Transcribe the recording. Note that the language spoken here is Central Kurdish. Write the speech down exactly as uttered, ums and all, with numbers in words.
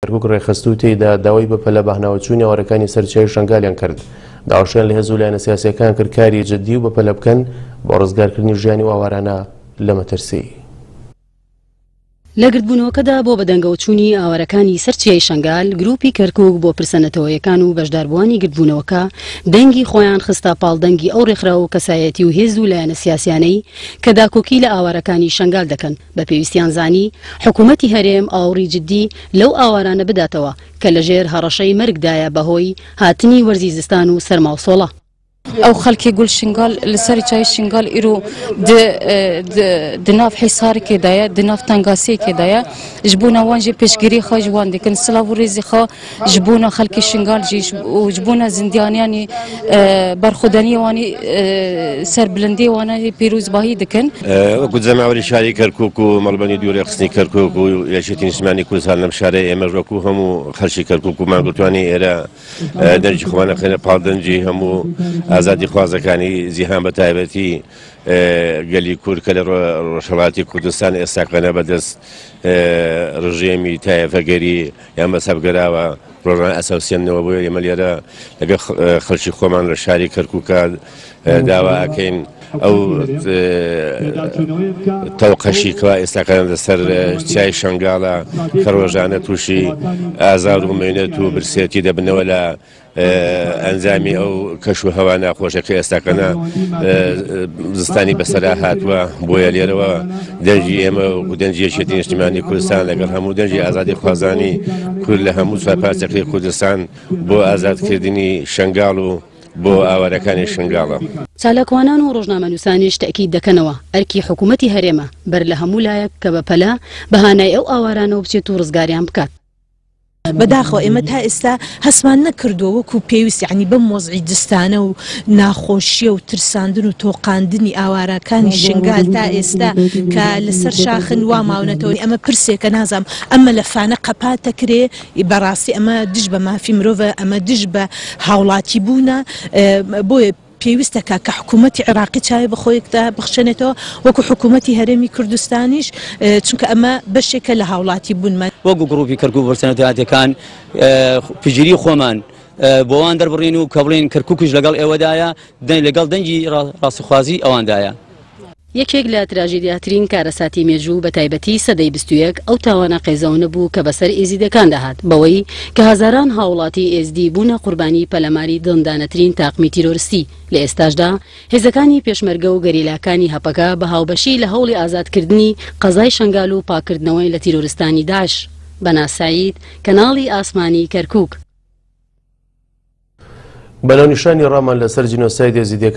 کەرکوک ڕێکخست و تێیدا داوای بەپەلە بەهناوەچوونی ئاوارەکانی سەر چیای شەنگالیان کرد. داواشیان لە هێز و لایەنە سیاسیەکان کرد کاری جدی و بەپەلە بکەن بۆ ڕزگارکردنی ژیانی و ئاوارانە لە مەترسی. لە گردبوونەوەکەدا بۆ بەدەنگەوەچوونی ئاوارەکانی سەر چیای شەنگال، گروپی کەرکوک بۆ پرسە نەتەوەیەکان و بەشداربووانی گردبوونەوەکە دەنگی خۆیان خستە پاڵ دەنگی ئەو ڕێکخراو و کەسایەتی و هێز و لایەنە سیاسیانەی کە داکۆکی لە ئاوارەکانی شەنگال دەکەن. بە پێویستیان زانی حکوومەتی هەرێم ئاوڕی جدی لەو ئاوارانە بداتەوە کە لەژێر هەڕەشەی مەرگدایە بەهۆی هاتنی وەرزی زستان و سەرما و سۆڵە. ئەو خەڵکی گول شنگال لەسەر چای شنگال ئیرۆ دناف حیسارێکدایە، دناف تەنگاسیەکێدایە، ji bona wan jî pêşgirî xwe ji wan dikin. Silav û rêzê xwe ji bona xelkê Şingal jî û ji bona zindiyanyanî berxwedaniyê wanî serbilindiyê wan jî pîrozbahî dikin. وەکو جەماوەری شاری کەرکوک و مەڵبەنی دوورێ خستنی کەرکوک و یەکێتی نیشتمانی کوردستان لەم شارەی ئێمەش وەکو هەموو خەڵکی کەرکوک و مانگرتوانی ئێرە دەنگی خۆمان ئەخەینە پاڵ دەنگی هەموو ئازادی خوازەکانی جیهان بە تایبەتی گەلی کورد کە لە ڕۆژهەڵاتی کوردستان ئێستاکەنە بەدەست ڕژێمی تایەفەگەری یان مەزهەبگەراوە ڕۆژانە ئەسەوسێنەوە. بۆیە ئێمە لێرە لەگەڵ خەڵکی خۆمان لە شاری کەرکووکە داوا ئەکەین ئەو تەوقەشی کەوا ئێستاکەن لەسەر چیای شەنگاڵە کە ڕۆژانە تووشی ئازار و مێنەت و برسێتی دەبنەوە لە ئەنجامی ئەو کەش و هەوا ناخۆشەکە ئێستاکەنە زستانی بەسەرا هاتووە. بۆیە لێرەوە دەنگی ئێمە و دەنگی یەکێتی نیشتیمانی کوردستان لەگەڵ هەموو دەنگی ئازادی خوازانی کورد لە هەموو چوار پارچەکەی کوردستان بۆ ئازادکردنی شەنگاڵ و بۆ ئاوارەکانی شنگاڵە. چالاکوانان و ڕۆژنامەنووسانیش تەئکید دەکەنەوە ئەرکی حکوومەتی هەرێمە بەر لە هەموو لایەک کە بەپەلە بەهانای ئەو ئاوارانەوە بچێت و ڕزگاریان بکات. بەداخەوە ئێمە تا ئێستا هەستمان نەکردووە وەکو پێویست، یعنی بەم وەزعی جستانە و ناخۆشیە و ترساندن و تۆقاندنی ئاوارەکانی شنگال تا ئێستا کە لەسەر شاخن وا ماونەتەوە. ئەمە پرسێکە نازانم ئەمە لە فانە قەپاتەکرێ. بەڕاستی ئەمە دژ بە مافی مرۆڤە، ئەمە دژ بە هاوڵاتی بوونە. بۆیە پێویستەکە کە حکوومەتی عێراقی چاوی بە خۆیەکدا بخشێنێتەوە وەکو حکوومەتی هەرێمی کوردستانیش، چونکە ئەمە بەشێکە لە هاوڵاتی بوونمان. وەکو گروپی کەرکوک بۆ پشتگیری خۆمان بۆوان دەربڕین و کە بڵێن کەرکوکیش لەگەڵ ئێوەدایە، لەگەڵ دەنگی ڕاستیخوازی ئەواندایە. یەکێک لە تراژیدیاترین کارەساتی مێژوو بە تایبەتی سەدەی بیست و یەک ئەو تاوانە قێزەونە بوو کە بەسەر ئێزیدەکان دەهات، بەوەی کە هەزاران هاوڵاتی ئێزدی بوونە قوربانی پەلەماری دڵندانەترین تاقمی تیرۆرستی. لە ئێستاشدا هێزەکانی پێشمەرگە و گەریلاکانی هەپەکە بە هاوبەشی لە هەوڵی ئازادکردنی قەزای شەنگال و پاکردنەوەی لە تیرۆرستانی داعش. بەنا سعید، کەناڵی ئاسمانی کەرکوک. بەناونیشانی ڕامان لەسەر جینۆساید ئێزیدیەکان